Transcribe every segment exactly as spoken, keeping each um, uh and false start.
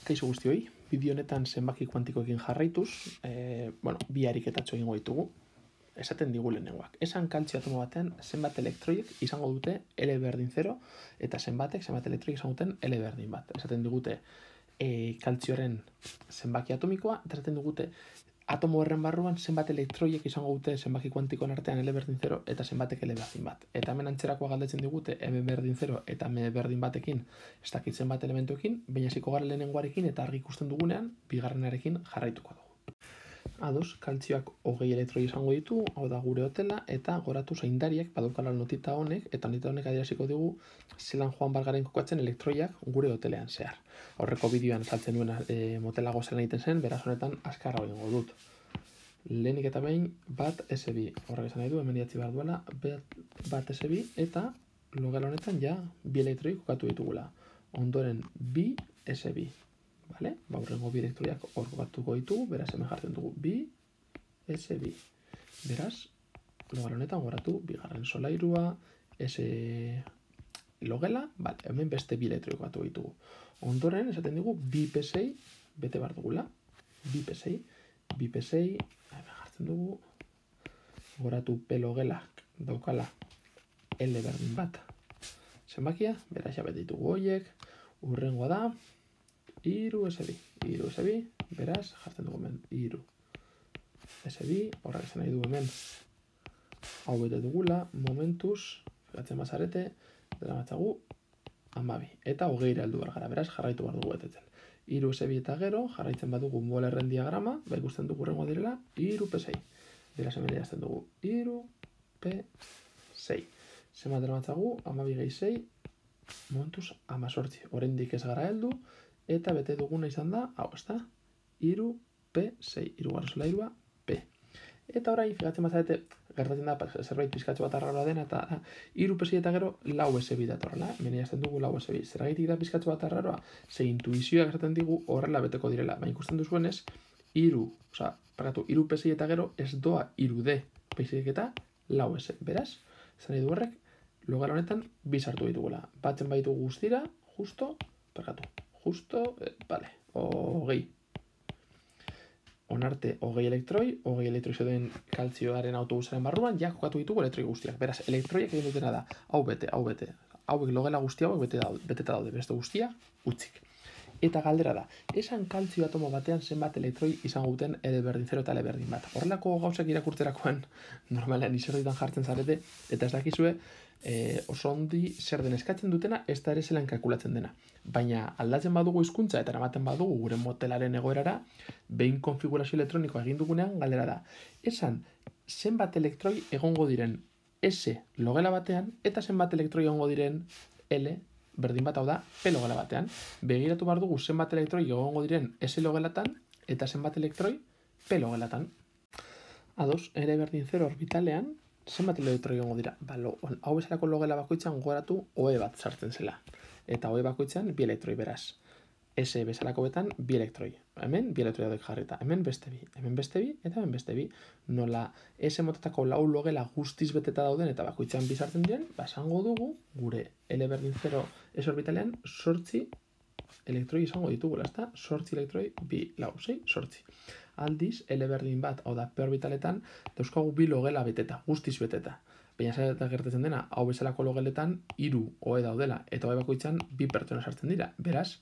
Kaixo guztioi, bideo honetan zenbaki kuantikoekin jarraituz, e, bueno, bi ariketatxo egingo ditugu, esaten digu lehenengoak. Esan kaltzio atomo batean zenbat elektroiek izango dute L berdin zero, eta zenbatek zenbat elektroiek izango duten L berdin bat. Esaten digute e, kaltzioaren zenbaki atomikoa, eta esaten digute atomo horren barruan zenbat elektroiek izango dute zenbaki kuantikoen artean L berdin zero eta zenbatek L berdin bat. Eta hemen antzerakoa galdetzen digute M berdin zero eta M berdin batekin ez dakit zenbat elementuekin, baina hasiko gara lehenengoarekin eta argi ikusten dugunean bigarrenarekin jarraituko dugu. Ados, kaltzioak hogei elektroi izango ditu, hau da gure hotela, eta goratu zaindariak badaukala notita honek, eta notita honek adieraziko dugu zelan joan bargaren kokatzen elektroiak gure hotelean zehar. Aurreko bideoan saltzen nuen e, motelago zelan egiten zen, beraz honetan azkarra egingo dut. Lehenik eta behin bat S bi, horrek esan nahi du, hemen idatzi behar duela, bat S bi, eta logela honetan ja bi elektroi kokatu ditugula. Ondoren bi S bi. Vale? Ba, horrengo bi elektroiak hor kokatuko ditugu, beraz hemen jartzen dugu bi S bi. Beraz, logela honetan goratu bigarren solairua, S logela, vale, hemen beste bi elektroi kokatu ditugu. Ondoren, esaten dugu bi P sei bete behar dugula, bi P sei, bi P sei, hemen jartzen dugu, goratu P logelak daukala L berdin bat. Zenbakia, beraz ja bete ditugu horiek, urrengoa da, iru S bi, iru S bi, beraz, jartzen dugu hemen, iru S bi, horrek esan nahi du hemen, hau bete dugula, momentuz, fijatzen bazarete, dela matzagu, amabi, eta hogeira heldu behar gara, beraz, jarraitu behar dugu betetzen. Iru S bi eta gero, jarraitzen badugu molerren diagrama, ba ikusten dugu rengoa direla, iru P sei, beraz, hemen erazten dugu, iru P sei. Zenbat dela matzagu, amabi gehi sei, momentuz, amazortzi, oraindik ez gara heldu, eta bete duguna izan da, hau ez da, iru P sei, irugarren solairua P. Eta orain, fijatzen bazarete, gertatzen da zerbait pizkatxo bat arraroa dena, eta iru P sei eta gero lau S bi datorrela, hemen jazten dugu lau S bi. Zergaitik da pizkatxo bat arraroa, ze intuizioak esaten digu horrela beteko direla, baina ikusten duzuenez, iru, oza, parkatu, iru P sei eta gero ez doa iru D, P sei eta lau S. Beraz, zan nahi du horrek, logela honetan bi sartu ditugula. Batzen baitu guztira, justo, parkatu. Justo, eh, vale, hogei. Onarte hogei elektroi, hogei elektroi zeuden kaltzioaren autobusaren barruan, ja kokatu ditugu elektroi guztiak. Beraz, elektroiak egin dutena da, hau bete, hau bete. Hauek logela guzti hauek bete daude, beteta daude, beste guztia, utzik. Eta galdera da, esan kaltzio atomo batean zenbat elektroi izango duten L berdin zero eta L berdin bat. Horrelako gauzak irakurtzerakoan normalean izerditan jartzen zarete, eta ez dakizue e, oso ondi zer den eskatzen dutena, ez da ere zelan kalkulatzen dena. Baina aldatzen badugu hizkuntza eta eramaten badugu gure motelaren egoerara, behin konfigurazio elektronikoa egin dugunean galdera da. Esan zenbat elektroi egongo diren S logela batean eta zenbat elektroi egongo diren L berdin bat, hau da, P logela batean. Begiratu behar dugu zenbat elektroi egongo diren S logelatan eta zenbat elektroi P logelatan. Ados, L berdin zero orbitalean, zenbat elektroi egongo dira. Ba, lo, hau bezalako logela bakoitzan gogoratu O E bat sartzen zela. Eta O E bakoitzan bi elektroi beraz. S bezalako betan bi elektroi. Hemen bi elektroi daudek jarrita. Hemen beste bi. Hemen beste bi eta hemen beste bi. Nola S motatako lau logela guztiz beteta dauden eta bakoitzan bi sartzen diren, basango dugu gure L berdin zero S orbitalean sortzi elektroi izango ditugula, ezta? Sortzi elektroi, bi, lau, sei, sortzi. Aldiz, L berdin bat, hau da, P orbitaletan, dauzkagu bi logela beteta, guztiz beteta. Baina zera gertatzen dena, hau bezalako logeletan, hiru O E daudela, eta O E bakoitzan bi pertsona sartzen dira. Beraz,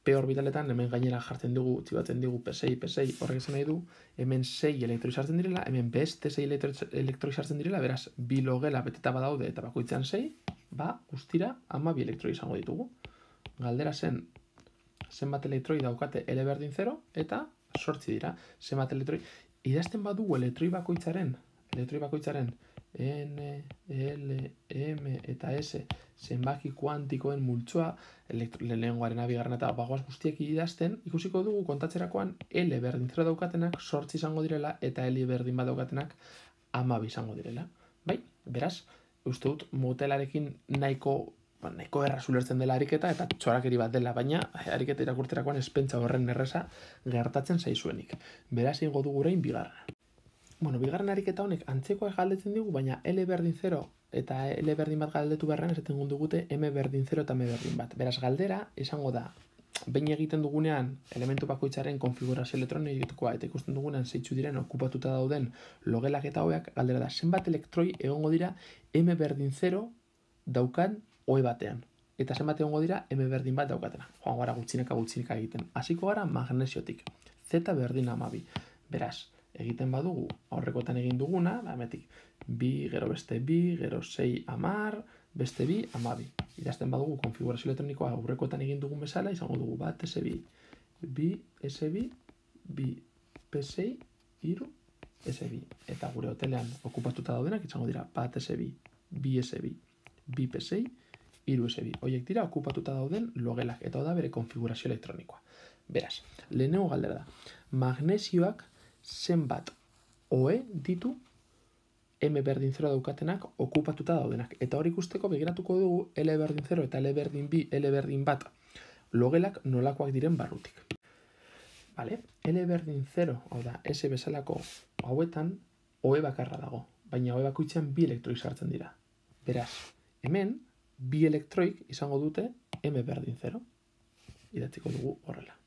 P orbitaletan hemen gainera jartzen dugu, txibatzen dugu P sei, P sei, horrek esan nahi du, hemen sei elektroi sartzen direla, hemen beste sei elektroi sartzen direla, beraz, bi logela beteta badaude eta bakoitzan sei, ba, guztira, ama bi elektroi izango ditugu. Galdera zen, zenbat elektroi daukate L berdin zero, eta sortzi dira, zenbat elektroi. Idazten badugu elektroi bakoitzaren, elektroi bakoitzaren, N, L, M eta S zenbaki kuantikoen multzoa, lehenengoaren abigarren eta bagoaz guztiek idazten, ikusiko dugu kontatzerakoan L berdin zero daukatenak sortzi izango direla eta L berdin bat daukatenak amabi izango direla. Bai, beraz, uste dut motelarekin nahiko, ba, nahiko erraz ulertzen dela ariketa eta txorakeri bat dela, baina ariketa irakurtzerakoan espentsa horren erreza gertatzen zaizuenik. Beraz, ingo dugu orain bigarrena. Bueno, bigarren ariketa honek antzekoa galdetzen digu, baina L berdin zero eta L berdin bat galdetu beharrean esaten dugute M berdin zero eta M berdin bat. Beraz, galdera izango da, behin egiten dugunean elementu bakoitzaren konfigurazio elektronikoa eta ikusten dugunean zeitzu diren okupatuta dauden logelak eta oheak, galdera da, zenbat elektroi egongo dira M berdin zero daukan ohe batean. Eta zenbat egongo dira M berdin bat daukatena. Joan gara gutxineka gutxineka egiten. Hasiko gara magnesiotik. Z berdin hamabi. Beraz, egiten badugu aurrekotan egin duguna, hemetik bi, gero beste bi, gero sei hamar, beste bi, hamabi. Idazten badugu konfigurazio elektronikoa aurrekotan egin dugun bezala, izango dugu bat S bi, bi S bi, bi P sei, hiru S bi. Eta gure hotelean okupatuta daudenak izango dira bat S bi, bi S bi, bi P sei, hiru S bi. Horiek dira okupatuta dauden logelak, eta da bere konfigurazio elektronikoa. Beraz, lehenengo galdera da, magnesioak zenbat ohe ditu M berdin zero daukatenak okupatuta daudenak. Eta hori ikusteko begiratuko dugu L berdin zero eta L berdin bi, L berdin bat logelak nolakoak diren barrutik. Vale? L berdin zero, hau da, S bezalako hauetan ohe bakarra dago, baina ohe bakoitzean bi elektroi sartzen dira. Beraz, hemen bi elektroik izango dute M berdin zero. Idatziko dugu horrela.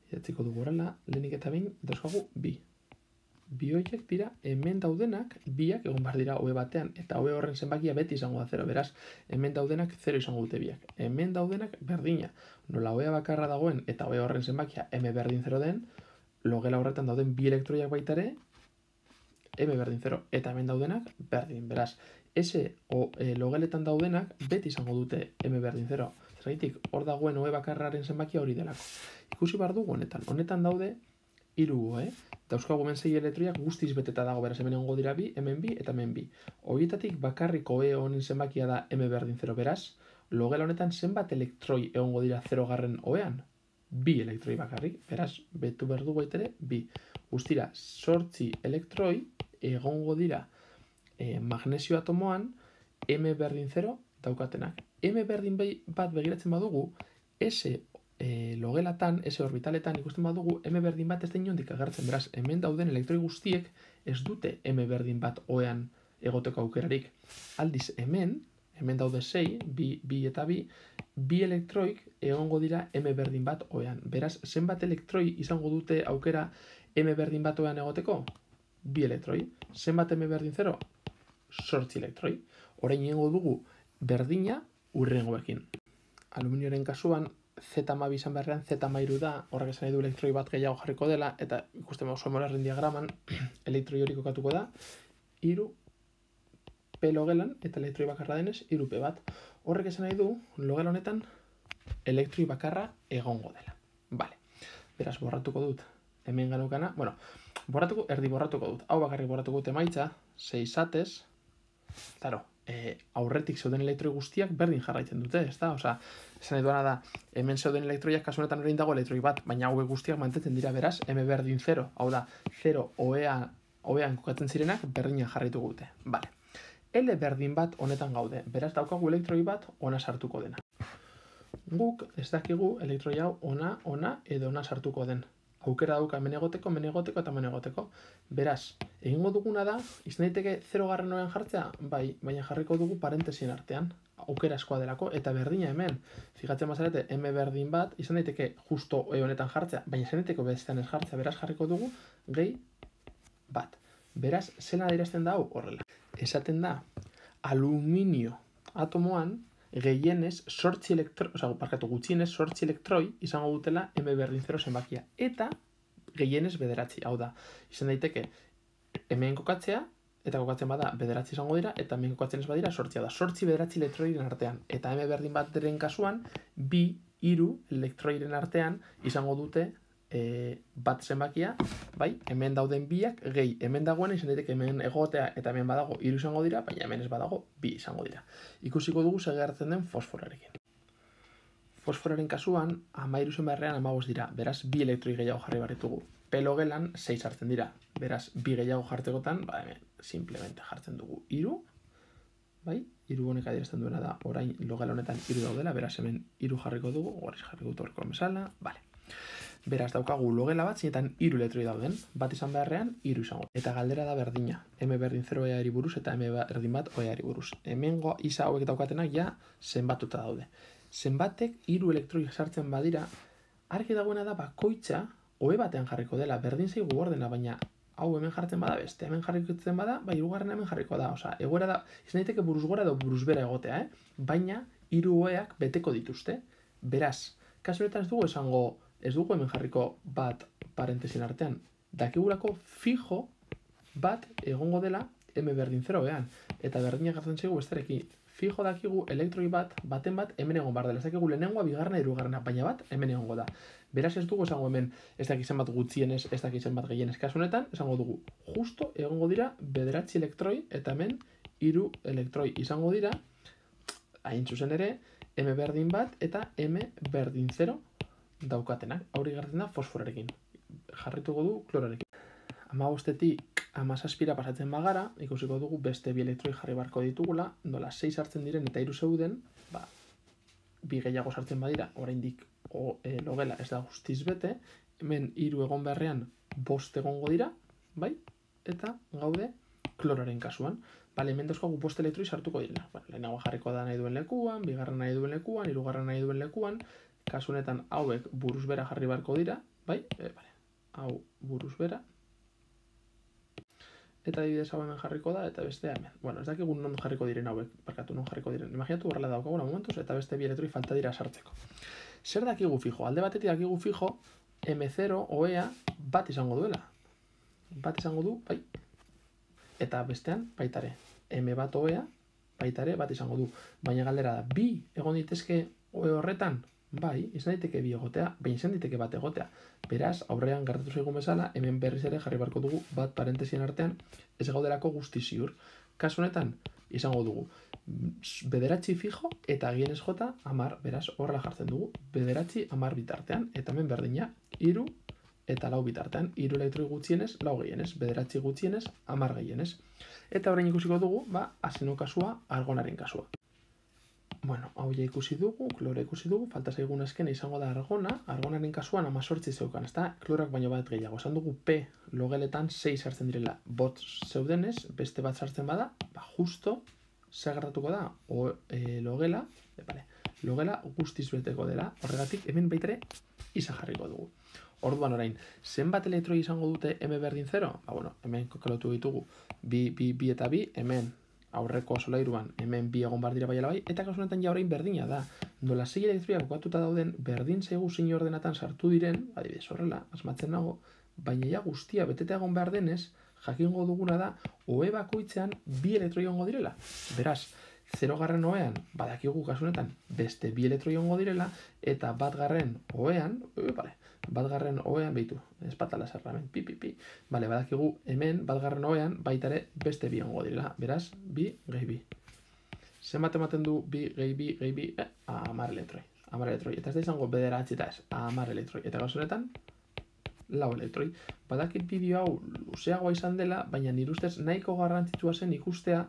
Idatziko dugu horrela, lehenik eta behin dauzkagu bi. Bi horiek dira hemen daudenak, biak egon behar dira ohe batean, eta ohe horren zenbakia beti izango da zero, beraz, hemen daudenak zero izango dute biak. Hemen daudenak berdina, nola ohea bakarra dagoen eta ohe horren zenbakia M berdin zero den, logela horretan dauden bi elektroiak baita ere, M berdin zero, eta hemen daudenak berdin, beraz, S o e, logeletan daudenak beti izango dute M berdin zero. Zergatik, hor dagoen ohe bakarraren zenbakia hori delako. Ikusi behar dugu honetan, honetan daude hiru ohe, dauzkagu hemen sei elektroiak guztiz beteta dago, beraz hemen egongo dira bi, hemen bi eta hemen bi. Horietatik bakarrik ohe honen zenbakia da M berdin zero, beraz, logela honetan zenbat elektroi egongo dira zero garren ohean? Bi elektroi bakarrik, beraz, betu behar dugu ere, bi. Guztira, zortzi elektroi egongo dira e, magnesio atomoan M berdin zero daukatenak. M berdin bat begiratzen badugu, S e, logelatan, S orbitaletan ikusten badugu, M berdin bat ez da inondik agertzen, beraz, hemen dauden elektroi guztiek ez dute M berdin bat ohean egoteko aukerarik. Aldiz, hemen, hemen daude sei, bi, bi eta bi, bi elektroik egongo dira M berdin bat ohean. Beraz, zenbat elektroi izango dute aukera M berdin bat ohean egoteko? Bi elektroi. Zenbat M berdin zero? Zortzi elektroi. Orain egingo dugu berdina urrengoekin. Aluminioaren kasuan, Z hamabi izan beharrean, Z hamairu da, horrek esan nahi du elektroi bat gehiago jarriko dela, eta ikusten bago Molarren diagraman, elektroi hori kokatuko da, hiru P logelan, eta elektroi bakarra denez, hiru P bat. Horrek esan nahi du, logela honetan, elektroi bakarra egongo dela. Vale. Beraz, borratuko dut, hemen ganukana, bueno, borratuko, erdi borratuko dut, hau bakarrik borratuko dut emaitza, sei zatez, claro, e, aurretik zeuden elektroi guztiak berdin jarraitzen dute, ez da? Osa, esan nahi duana da, hemen zeuden elektroiak kasu honetan orain dago elektroi bat, baina hauek guztiak mantentzen dira beraz, M berdin zero, hau da, zero ohean, ohean kokatzen zirenak berdina jarraitu dute. Vale. L berdin bat honetan gaude, beraz daukagu elektroi bat ona sartuko dena. Guk ez dakigu elektroi hau ona, ona edo ona sartuko den. Aukera dauka hemen egoteko, hemen egoteko eta hemen egoteko. Beraz, egingo duguna da, izan daiteke zero garren ohean jartzea, bai, baina jarriko dugu parentesien artean, aukera askoa delako, eta berdina hemen. Fijatzen bazarete, M berdin bat, izan daiteke justo ohe honetan jartzea, baina izan daiteke bestean ez jartzea, beraz jarriko dugu gehi bat. Beraz, zela adierazten da hau horrela. Esaten da, aluminio atomoan, gehienez, sortzi elektroi, oza, parkatu gutxienez, sortzi elektroi izango dutela M berdin zero zenbakia. Eta gehienez bederatzi, hau da, izan daiteke hemen kokatzea, eta kokatzen bada bederatzi izango dira, eta hemen kokatzen ez badira sortzia da. Sortzi bederatzi elektroiren artean. Eta M berdin bat deren kasuan, bi, hiru elektroiren artean izango dute e, bat zenbakia, bai, hemen dauden biak, gehi, hemen dagoen izan daiteke hemen egotea eta hemen badago hiru izango dira, baina hemen ez badago bi izango dira. Ikusiko dugu segertzen den fosforarekin. Fosforaren kasuan, hamairu zen beharrean hamabost dira, beraz, bi elektroi gehiago jarri behar ditugu. Pelogelan sei sartzen dira, beraz, bi gehiago jartzekotan, ba, hemen, simplemente jartzen dugu hiru, bai, hiru honek adierazten duena da, orain logela honetan hiru daudela, beraz, hemen hiru jarriko dugu, gorriz jarriko dut horreko mesala, bale. Beraz, daukagu logela bat, zinetan hiru elektroi dauden, bat izan beharrean, hiru izango. Eta galdera da berdina, M berdin zero oheari buruz eta M berdin bat oheari buruz. Hemengo isa hauek daukatenak ja zenbatuta daude. zenbatek hiru elektroi sartzen badira, argi dagoena da bakoitza ohe batean jarriko dela, berdin zaigu ordena, baina hau hemen jartzen bada beste, hemen jarrikotzen bada, bai hirugarrena hemen jarriko da, osea, egoera da, izan daiteke buruz gora edo buruz bera egotea, eh? Baina hiru oheak beteko dituzte. Beraz, kasu honetan ez dugu esango, ez dugu hemen jarriko bat parentesin artean, dakigulako fijo bat egongo dela M berdin zero ean, eta berdinak hartzen zaigu besterekin. Fijo dakigu elektroi bat, baten bat, hemen egon bar dela. Ez dakigu lehenengoa, bigarrena, hirugarrena, baina bat, hemen egongo da. Beraz ez dugu esango hemen, ez dakizen bat gutxienez, ez dakizen bat gehienez. Kasu honetan, esango dugu, justo egongo dira bederatzi elektroi, eta hemen hiru elektroi izango dira, hain zuzen ere, M berdin bat eta M berdin zero daukatenak. Hori gertzen da fosforerekin. Jarrituko du klorarekin. Hamabostetik hamazazpira pasatzen bagara, ikusiko dugu beste bi elektroi jarri barko ditugula, nola sei sartzen diren eta hiru zeuden, ba, bi gehiago sartzen badira, oraindik o, e, logela ez da guztiz bete, hemen hiru egon beharrean bost egongo dira, bai? Eta gaude kloraren kasuan. Bale, hemen dauzkagu bost elektroi sartuko direla. Bueno, lehenago jarriko da nahi duen lekuan, bigarren nahi duen lekuan, hirugarren nahi duen lekuan, kasu honetan hauek buruz bera jarri barko dira, bai? E, bale, hau buruz bera. Eta adibidez hau hemen jarriko da, eta bestea hemen. Bueno, ez dakigu non jarriko diren hauek, barkatu non jarriko diren. Imaginatu horrela daukaguna momentuz, eta beste bi elektroi falta dira sartzeko. Zer dakigu fijo? Alde batetik dakigu fijo, M zero ohea bat izango duela. Bat izango du, bai. Eta bestean, baitare. M bat ohea, baitare, bat izango du. Baina galdera da, bi egon ditezke ohe horretan? Bai, izan daiteke bi egotea, baina izan daiteke bat egotea. Beraz, aurrean gertatu zaigun bezala, hemen berriz ere jarri barko dugu bat parentesien artean ez gaudelako guzti ziur. Kasu honetan, izango dugu bederatzi fijo eta gehienez jota hamar, beraz, horrela jartzen dugu. Bederatzi hamar bitartean, eta hemen berdina, hiru eta lau bitartean. Hiru elektroi gutxienez, lau gehienez, bederatzi gutxienez, hamar gehienez. Eta orain ikusiko dugu, ba, azeno kasua, argonaren kasua. Bueno, hau ja ikusi dugu, klora ikusi dugu, falta zaigun azkena izango da argona, argonaren kasuan hemezortzi zeukan, ez da, klorak baino bat gehiago. Esan dugu P logeletan sei sartzen direla, bot zeudenez, beste bat sartzen bada, ba, justo, zer gertatuko da, o, e, logela, e, bale, logela guztiz beteko dela, horregatik hemen baitere isa jarriko dugu. Orduan orain, zenbat elektroi izango dute M berdin zero? Ba, bueno, hemen kokalotu ditugu, bi, bi, bi eta bi, hemen, aurreko solairuan hemen bi egon bar dira baiala bai, eta kasu honetan ja orain berdina da. Nola sei elektroiak kokatuta dauden, berdin zaigu zein ordenatan sartu diren, adibidez horrela, asmatzen nago, baina ja guztia beteta egon behar denez, jakingo duguna da, ohe bakoitzean bi elektroi egongo direla. Beraz, zerogarren ohean, badakigu kasu honetan, beste bi elektroi egongo direla, eta batgarren ohean, e, bale, batgarren ohean, behitu, espatala zerramen, pi, pi, pi. Bale, badakigu hemen, batgarren ohean, baitare beste bi egongo direla. Beraz, bi gehi bi. Zenbat ematen du bi gehi bi gehi bi, eh, hamar elektroi. Hamar elektroi. Eta ez da izango bederatzi eta ez, hamar elektroi. Eta gauz honetan, lau elektroi. Badakit bideo hau luzeagoa izan dela, baina nire ustez nahiko garrantzitsua zen ikustea,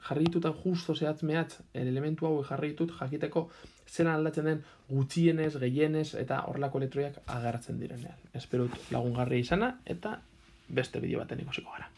jarri ditutan justo zehatz mehatz elementu hau jarri ditut jakiteko zelan aldatzen den gutxienez, gehienez eta horrelako elektroiak agertzen direnean. Espero lagungarria izana eta beste bideo baten ikusiko gara.